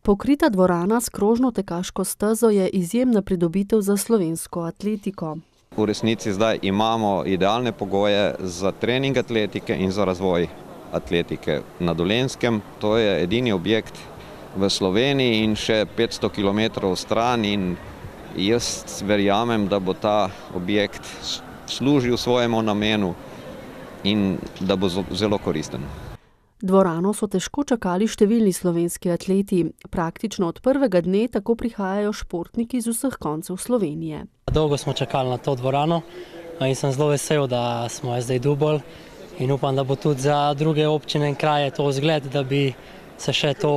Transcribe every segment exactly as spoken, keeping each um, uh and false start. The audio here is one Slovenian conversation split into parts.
Pokrita dvorana s krožno tekaško stezo je izjemna pridobitev za slovensko atletiko. V resnici zdaj imamo idealne pogoje za trening atletike in za razvoj atletike na Dolenjskem. To je edini objekt v Sloveniji in še petsto kilometrov stran in jaz verjamem, da bo ta objekt služil svojemu namenu in da bo zelo koristen. Dvorano so težko čakali številni slovenski atleti. Praktično od prvega dne tako prihajajo športniki z vseh koncev Slovenije. Dolgo smo čakali na to dvorano in sem zelo vesel, da smo jo zdaj dobili in upam, da bo tudi za druge občine in kraje to zgled, da bi se še to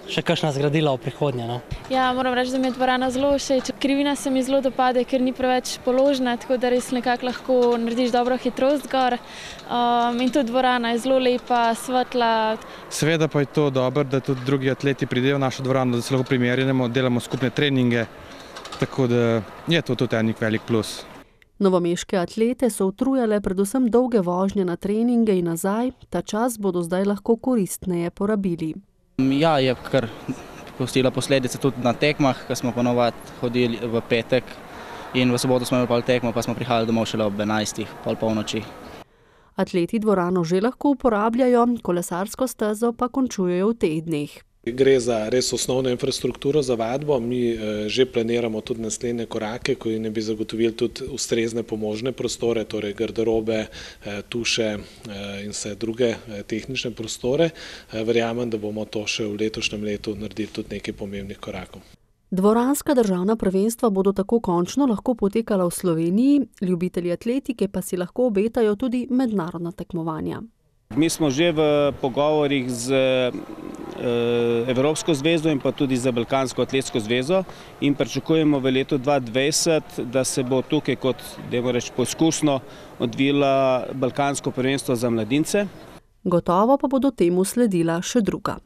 še kakšna zgradila v prihodnje. No? Ja, moram reči, da mi je dvorana zelo všeč. Krivina se mi zelo dopade, ker ni preveč položna, tako da res nekako lahko narediš dobro hitrost gor. Um, in tudi dvorana je zelo lepa, svetla. Seveda pa je to dobro, da tudi drugi atleti pridejo v našo dvorano, da se lahko primerjamo, delamo skupne treninge, tako da je to tudi enik velik plus. Novomeške atlete so utrujale predvsem dolge vožnje na treninge in nazaj, ta čas bodo zdaj lahko koristneje porabili. Ja, je kar pustila posledice tudi na tekmah, ko smo ponovadi hodili v petek in v soboto smo imeli pol tekmo, pa smo prihajali domov šele ob enajstih, pol polnoči. Atleti dvorano že lahko uporabljajo, kolesarsko stezo pa končujejo v teh dneh. Gre za res osnovno infrastrukturo za vadbo. Mi že planiramo tudi naslednje korake, ko ne bi zagotovili tudi ustrezne pomožne prostore, torej garderobe, tuše in vse druge tehnične prostore. Verjamem, da bomo to še v letošnjem letu naredili tudi nekaj pomembnih korakov. Dvoranska državna prvenstva bodo tako končno lahko potekala v Sloveniji, ljubitelji atletike pa si lahko obetajo tudi mednarodna tekmovanja. Mi smo že v pogovorih z Evropsko zvezo in pa tudi za Balkansko atletsko zvezo in pričakujemo v letu dva tisoč dvajset, da se bo tukaj kot, dajmo reči, poskusno odvila Balkansko prvenstvo za mladince. Gotovo pa bodo temu sledila še druga.